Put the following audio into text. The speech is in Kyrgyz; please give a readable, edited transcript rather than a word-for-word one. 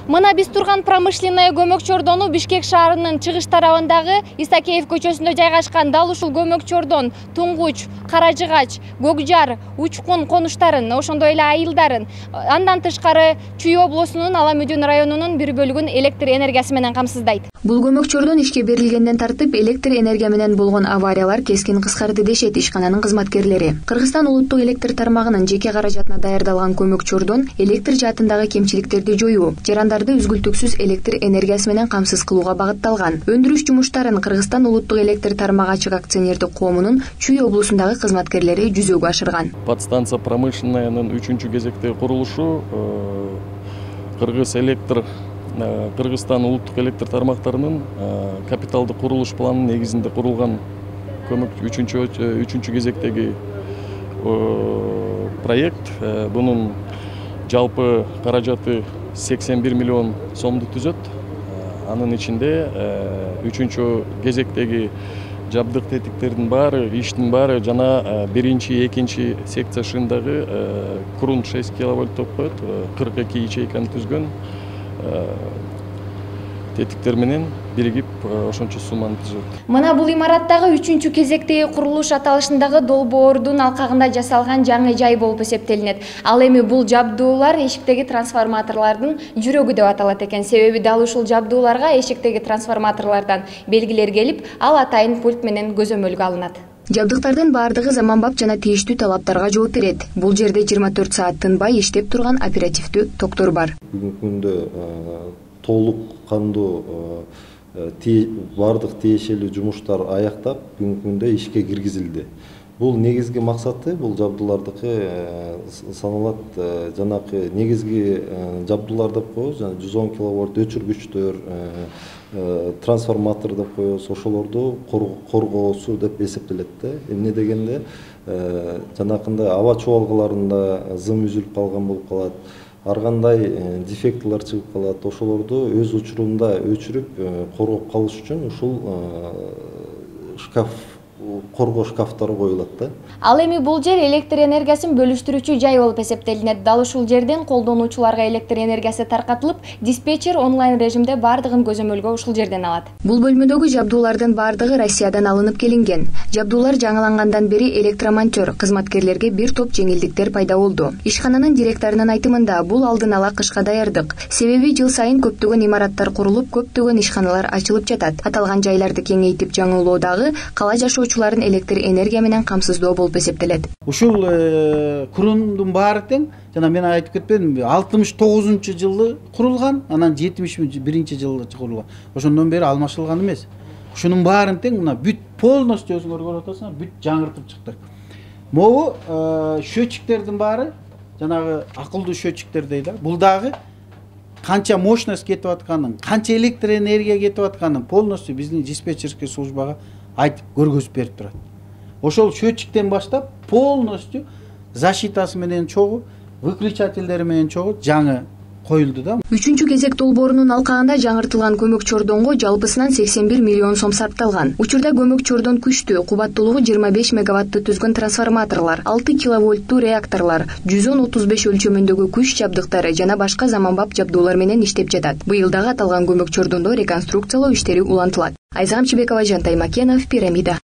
Мына биз турган промышленный көмөк чордону Бишкек шаарынын чыгыш тарабындагы Исакеев көчөсүндө жайгашкан. Дал ушул көмөк чордон Туңгуч, Каражыгач, Көкжар, Учкун конуштарын, ошондой эле айылдарын, андан тышкары Чүй облусунун Ала Мүдүн районунун бир бөлүгүн электр энергиясы менен камсыздайт. Бул көмөк чордон ишке берилгенден тартып электр энергия менен болгон авариялар кескин кыскарды дешет ишкананын кызматкерлери. Кыргызстан улуттук электр тармагынын жеке каражатына даярдалган көмөк чордон электр жаатындагы кемчиликтерди жоюу, жарандарды үзгүлтүксүз электр энергиясы менен камсыз кылууга багытталган. Өндүрүш жумуштарын Кыргызстан улуттук электр тармагы ачык акционердик коомунун Чүй облусундагы кызматкерлери жүзөгө ашырган. Подстанция промышленныйнын 3-чү кезектеги курулушу Кыргызстан улуттук электр тармактарынын капиталдык курулуш планынын негизинде курулган көмөк 3-чү кезектеги проект. Бунун жалпы каражаты 81 миллион сомду түзөт. Анын ичинде 3-чү кезектеги жабдык тетиктердин баары, иштин баары жана 1-2 секция шындагы Крун 6 киловольт топ коет, 42 ячейканы түзгөн тетиктер менен биригип ошончо сумманы түзөт. Мына бул имараттагы 3-чү кезектеги курулуш аталышындагы долбоордун алкагында жасалган жаңы жай болуп эсептелинет. Ал эми бул жабдуулар эшиктеги трансформаторлордун жүрөгү деп аталат экен. Себеби дал ушул жабдууларга эшиктеги трансформаторлордон белгилер келип, ал атайын пульт менен көзөмөлгө алынат. Жабдыктардын баардыгы заманбап жана тийиштүү талаптарга жооп берет. Бул жерде 24 саат тынбай иштеп турган оперативдүү токтор бар. Бүгүнкү күндө толук кандуу бардык тиешелүү жумуштар аяктап, бүгүнкү күндө ишке киргизилди. Бул негизги максаты, бул жабдуулардыкы саналат, жанакы негизги жабдуулар деп коебуз, жана 110 киловольт өчүргүчтөр, трансформатор деп коебуз, ошолорду коргоосу деп эсептелет да. Эмне дегенде, жанакындай аба чубалгаларында зым үзүлүп калган болуп калат. Ар кандай дефектилер чыгып калат, ошолорду өз учурунда өчүрүп коргоп калыш үчүн ушул коргоо шкафтары коюлат да. Ал эми бул жер электр энергиясын бөлүштүрүүчү жай болуп эсептелинет. Дал ушул жерден колдонуучуларга электр энергиясы таркатылып, диспетчер онлайн режимде бардыгын көзөмөлгө ушул жерден алат. Бул бөлмөдөгү жабдуулардын бардыгы Россиядан алынып келинген. Жабдуулар жаңылангандан бери электромонтер кызматкерлерге бир топ жеңилдиктер пайда болду. Ишкананын директорунун айтымында, бул алдын ала кышка даярдык. Себеби жыл сайын көптөгөн имараттар курулуп, көптөгөн ишканалар ачылып жатат. Аталган жайларды кеңейтип жаңылоодагы кала жашоочуларын электр энергия менен камсыздоо болуп эсептелет. Ушул Крундун баары тең, жана мен айтып кетпедимби, 69-жылы курулган, анан 71-жылы курулган. Ошондон бери алмашылган эмес. Ушунун баарын тең мына бүт полностью өзүңөр көрүп атасыңар, бүт жаңыртып чыктык. Могу счетчиктердин баары, жанагы акылдуу счетчиктер дейт, бул дагы канча мощность кетип атканын, канча электр энергия кетип атканын полностью биздин диспетчерский службага айтып көргөзүп берип турат. Ошол счетчиктен баштап полностью защитасы менен чогуу, выключательдери менен чогуу жаңы коюлду да. 3-чү кезек долбоорунун алкагында жаңыртылган көмөк чордонго жалпысынан 81 миллион сом сарпталган. Учурда көмөк чордон күчтүү, кубаттуулугу 25 мегаваттты түзгөн трансформаторлор, 6 киловольттуу реакторлор, 135 өлчөмүндөгү күч жабдыктары жана башка заманбап жабдуулар менен иштеп жатат. Быйыл дагы аталган көмөк чордондо реконструкциялоо иштери улантылат. Айзам Чебекова, Жантай Макенов, Пирамида.